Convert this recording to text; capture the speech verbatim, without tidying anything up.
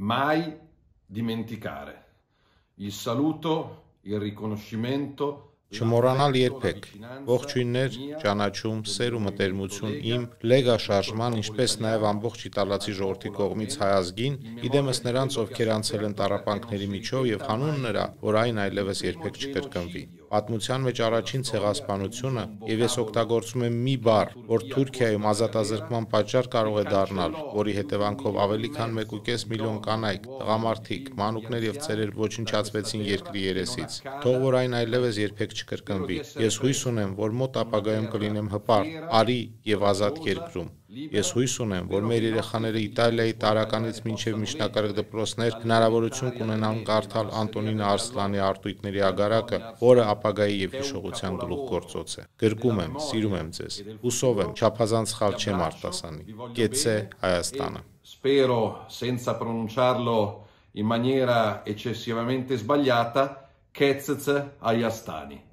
mai dimenticare. Il saluto, il riconoscimento. Չմոռանալ երբեք, ողջույններ, ճանաչում, սեր ու մտերմություն իմ լեգա շարժման, ինչպես նաև ամբողջ իտալացի ժողովրդի կողմից հայ ազգին, իդեմս նրանց, ովքեր անցել են տառապանքների միջով եւ հանուն նրա, որ այն այլևս երբեք չկրկնվի։ Պատմության մեջ առաջին ցեղասպանությունը, եւ ես օգտագործում եմ մի բառ, որ Թուրքիայում ազատազրկման պատճառ կարող է դառնալ, որի հետևանքով ավելի քան մեկ ու կես միլիոն կանայք, տղամարդիկ, մանուկներ եւ ծերեր ոչնչացվեցին երկրի երեսից։ Թող որ այն այլևս երբեք չկրկնվի։ Ես հույս ունեմ, որ մոտ ապագայում կլինեմ հպարտ, արի եւ ազատ երկրում։ Ես հույս ունեմ, որ մեր երեխաները Իտալիայի տարականից մինչև միջնակարգ դպրոցներ հնարավորություն կունենան կարդալ Անտոնինո Արսլանի արտույտների ագարակը, որը ապագայի եւ հիշողության գլուխգործոց է։ Գրկում եմ, սիրում եմ ձեզ։ Հուսով եմ, չափազանց սխալ չեմ արտասանի։ Կեցցե Հայաստանը։ Spero senza pronunciarlo in maniera eccessivamente sbagliata, Kecz Hayastani.